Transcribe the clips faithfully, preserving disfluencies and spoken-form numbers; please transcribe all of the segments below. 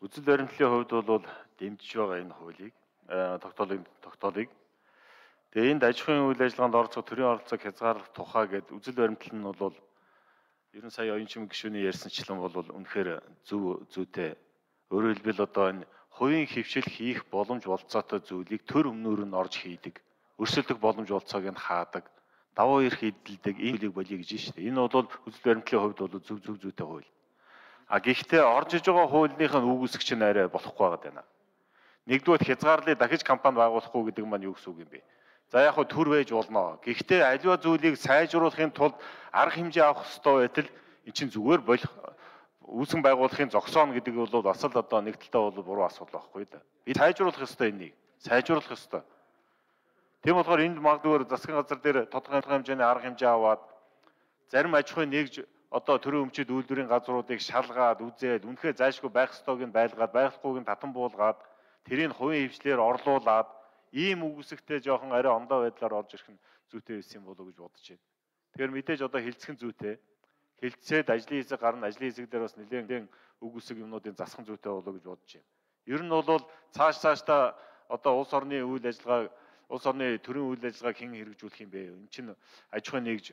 Үзэл баримтлалын хувьд бол дэмжиж байгаа энэ хуулийг тогтоолыг тогтоолыг тэгээ энд аж ахуйн үйл ажиллагаанд оролцох төрийн оролцоог хязгаарлах тухай гэдэг үзэл баримтлал нь бол ерөн сая оюун чимэг гишүүний ярьсанчлан бол үнэхээр зөв зүйтэй. Өөрөөр хэлбэл одоо энэ хувийн хөвшил хийх боломж болцоотой зүйлийг төр өмнөр нь орж хийдэг. Өрсөлдөх боломж болцоог нь хаадаг. Давуу эрх эдэлдэг энэ зүйлийг болиё гэж байна шүү дээ. Энэ бол үзэл баримтлалын хувьд бол зөв зөв зүйтэй хууль. А гэхдээ орж иж байгаа хуулийнхын үүсгч нь арай болохгүй байгаа даа. Нэгдүгээр хязгаарлалыг дахиж компани байгуулахгүй гэдэг маань юу гэсэн үг юм бэ? За яг хөө төр байж болно. Гэхдээ аливаа зүйлийг сайжруулахын тулд арга хэмжээ авах хэрэгтэй байтал эн чинь зүгээр болох үүсгэн байгуулахын зогсооно гэдэг бол бас л одоо нэг талдаа бол буруу асуудал байхгүй да. Би сайжруулах ёстой энийг. Сайжруулах ёстой. Тийм болохоор энд магадгүй засгийн газар дээр тодорхой хэмжээний арга хэмжээ аваад зарим аж ахуйн нэгж одоо төрийн өмчит үйлдвэрийн газруудыг шалгаад үзээд үнэхээр зайлшгүй байх ёстойг нь байлгаад байхгүйг нь татан буулгаад тэрийг хувийн хвшлэр орлуулад ийм үгсэгтэй жоохон арай ондоо байдлаар орж ирэх нь зүйтэй байсан юм болов уу гэж бодож байна. Тэгэхээр мэдээж одоо хилцэх нь зүйтэй. Хилцээд ажлын хэсэг гарна, ажлын хэсэг дээр бас нэлээд үгсэг юмнуудын засах зүйтэй болов уу гэж бодож байна. Ер нь бол цааш цаашдаа одоо улс орны үйл ажиллагаа, улс орны төрийн үйл ажиллагааг хэн хэрэгжүүлэх юм бэ? Энд чинь аж ахуйн нэгж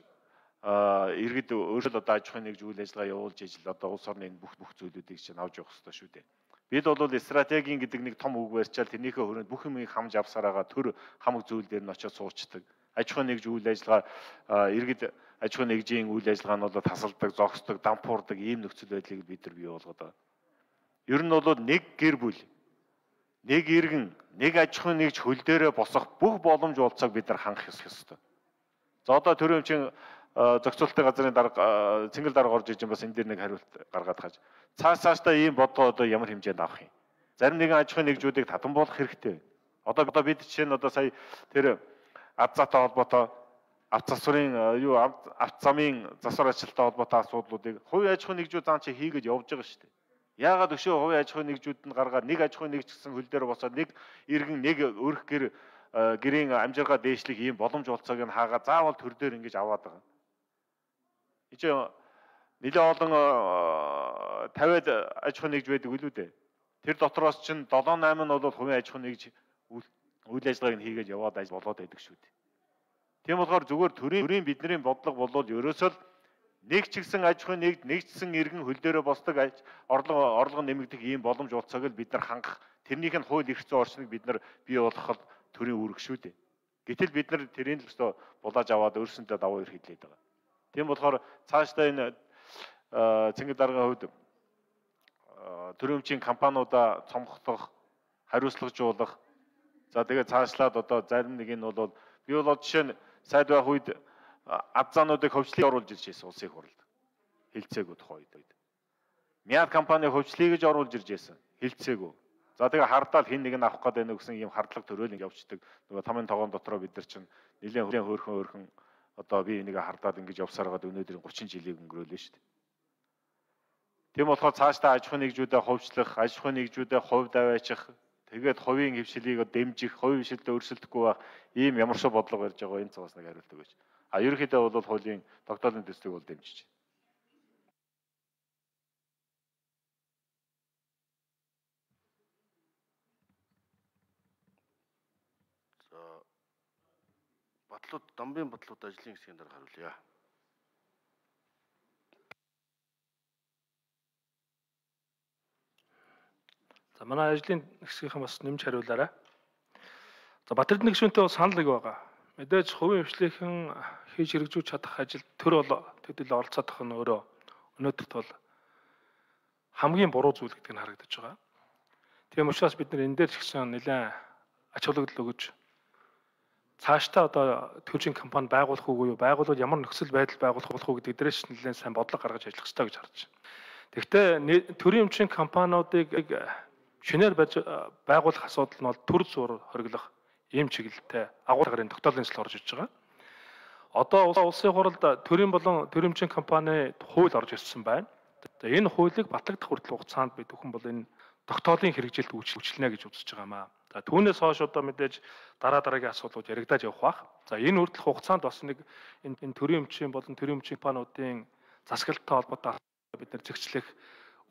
иргэд өөрөөр одоо аж ахуйн нэгж үйл ажиллагаа явуулж ижил одоо улс орны энэ бүх бүх зүйлүүдийг чинь авч явах хэрэгтэй шүү дээ. Бид бол стратегийн гэдэг нэг том үг барьчаал тэрнийхээ хүрээнд бүх юмыг хамж авсараагаа төр хамаг зүйл дээр нь очиж суучдаг. Аж ахуйн нэгж үйл ажиллагаа иргэд аж ахуйн нэгжийн үйл ажиллагаа нь бол тасалдаг, зогсдог, дампуурдаг ийм нөхцөл байдлыг бид нар бий болгоод байгаа. Ер нь бол нэг гэр бүл, нэг иргэн, нэг аж ахуйн нэгж хөл дээрээ босох бүх боломж болцоог бид нар хангах ёстой. За одоо төрийн өмчийн зохицуулалтын газрын дарга цэнгэл дарга орж иж бас энэ дээр нэг хариулт гаргаад хаж. Цааш цаашдаа ийм бодлого одоо ямар хэмжээнд авах юм? Зарим нэгэн аж ахуйн нэгжүүдийг татан болгох хэрэгтэй. Одоо одоо бид жишээ нь одоо сая тэр авцаатай холбоотой авц засварын юу авц замын засвар ажилттай холбоотой асуудлуудыг хувийн аж ахуйн нэгжүүд заан чи хийгээд явж байгаа шүү дээ. Яагаад өшөө хувийн аж ахуйн нэгжүүд нь гаргаад нэг аж ахуйн нэгж гэсэн хөл дээр босоод нэг иргэн нэг өрх гэр гэрийн амжиргаа дээшлэх ийм боломж болцоог нь хаагаа заавал төр дээр ингэж аваад байгаа. Ичээ нэлээ олон тавиад аж ахуйн нэгж байдаг үлээ дээ. Тэр дотроос чинь долоо найман нь бол хувийн аж ахуйн нэгж үйл ажиллагааг нь хийгээд яваад ажил болоод байдаг шүү дээ. Тийм болохоор зүгээр төрийн бидний бодлого болвол ерөөсөө нэг ч гэсэн аж ахуйн нэгж нэгдсэн иргэн хөл дээрээ босдог орлого орлого нэмэгдэх ийм боломж болцоог л бид нар хангах. Тэрнийх нь хууль эрх зүйн орчныг бид нар бий болгоход төрийн үүрэг шүү дээ. Гэтэл бид нар тэрийг л өстө булааж аваад өөрсөндөө давуу эрх хэлээд байгаа. Тийм болохоор цаашдаа энэ цэнгэл даргын хувьд төрийн өмчийн компаниудаа цомгох, хариуцлагажуулах. За тэгээд цаашлаад одоо зарим нэг нь бол би бол жишээ нь сайд байх үед азаануудыг хөвчлийг оруулж ирж байсан улсын хурлд. Хилцээгүү тухай үед. Мяд компани хөвчлийг гэж оруулж ирж байсан. Хилцээгүү. За тэгээ хардаал хин нэг нь авах гэдэг нэг гэсэн ийм хардлага төрөөлөнд явцдаг. Нөгөө тамийн тогоон дотроо бид нар чинь нэлээд хөөрхөн хөөрхөн одоо би энийг хардаад ингэж явсараад өнөөдөр гучин жилийг өнгөрөөлөө шүү дээ. Тийм болохоор цаашдаа аж ахуйн нэгжүүдэд ховчлох, аж ахуйн нэгжүүдэд хувь даваачих, тэгээд хувийн хвшилийг дэмжих, хувийн хвшилдээ өрсөлдөхгүй байх ийм ямар ч бодлого ярьж байгаа энэ цагаас нэг хариулт өгөөч. А ерөнхийдөө бол хуулийн тогтоолын төслийг бол дэмжиж байна. За батлууд дамбын батлууд ажлын хэсгийн дараа хариулъя. За манай ажлын хэсгийнхэн бас нэмж хариулаарай. За Батэрдэн гишүүнтэй бас санал нэг байгаа. Мэдээж хувийн хвшлийнхэн хийж хэрэгжүүлж чадах ажил төр бол төдийлө оролцоодох нь өөрөө өнөөдөрт бол хамгийн буруу зүйл гэдгийг харагдаж байгаа. Тийм учраас бид нар энэ дээр ч гэсэн нэлээд ач холбогдол өгөж цаашдаа одоо төрийн компани байгуулах уугүй юу, байгуулвал ямар нөхцөл байдал байгуулах болох уу гэдэг дээрээс нэлээд сайн бодлого гаргаж ажиллах хэрэгтэй гэж харж байна. Тэгэхдээ төрийн өмчийн компаниудыг шинээр байгуулах асуудал нь бол төр зур хориглох ийм чиглэлтэй агуулгын тогтоолын төсөл орж иж байгаа. Одоо улсын хурлд төрийн болон төрөмчийн компани хууль орж ирсэн байна. За энэ хуулийг батлагдах хүртэл хугацаанд бид бүхэн бол энэ тогтоолын хэрэгжилт үйлчлэнэ гэж үзэж байгаа маа. За түүнээс хойш одоо мэдээж дараа дараагийн асуудлууд яригдаад явах бах. За энэ хүртэл хугацаанд бас нэг энэ төрийн өмчийн болон төрийн өмчийн компаниудын засаглалтай холбоотой бид нар зэгцлэх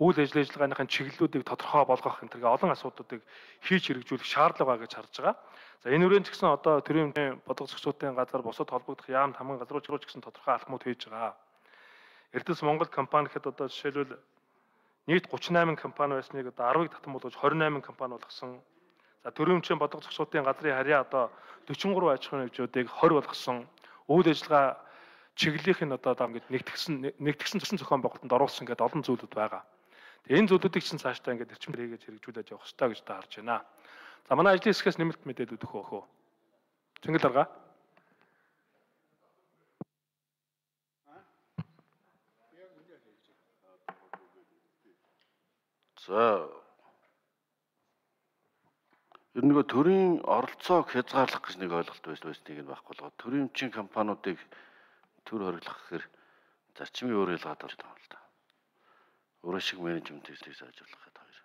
үйл ажиллагааныхын чиглэлүүдийг тодорхой болгох энэ төрлийн олон асуудлуудыг хийж хэрэгжүүлэх шаардлага байгаа гэж харж байгаа. За энэ үрэн ч гэсэн одоо төрийн бодлого зохицуулалтын газар бусад холбогдох яамд хамгаалалт газрууч руу ч гэсэн тодорхой алхмууд хийж байгаа. Эрдэс Монгол компани гэхэд одоо жишээлбэл нийт гутрин восемь компани байсныг одоо арвыг татан болгож двадцать восемь компани болгосон. За төрийн бодлого зохицуулалтын газрын харьяа одоо forty three аж ахуйн нэгжүүдийг twenty болгосон. Үйл ажиллагаа чиглэлийнх нь одоо ингээд нэгтгсэн нэгтгсэн төсөл зохион байгуулалтанд оруулсан гэдэг олон зүйлүүд байгаа. Тэгээ энэ зүйлүүдийг чинь цаашдаа ингээд эрчим хэрэгэж хэрэгжүүлээд явах хэрэгтэй гэж та харж байна. За манай ажлын хэсгээс нэмэлт мэдээлэл өгөх үү? Цэнгэл дарга. За ер нь нөгөө төрийн оролцоог хязгаарлах гэж нэг ойлголт байсныг нь байхгүй болгоод төрийн өмчийн компаниудыг төр хориглох гэхээр зарчмын өөр ялгаад болж байгаа юм л да. Өөрөө шиг менежмент хийлийг сайжруулах гэдэг хоёр.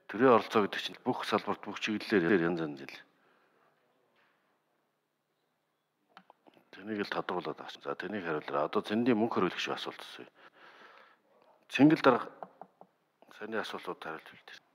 Төрийн оролцоо гэдэг чинь бүх салбарт бүх чиглэлээр янз янз жил. Тэнийг л тодруулаад авсан. За тэнийг хариулраа. Одоо зэндийн мөнгө хөрвүүлэх шиг асуулт асууя. Цэнгэл дарга саяны асуултууд хариулт хэлдэг.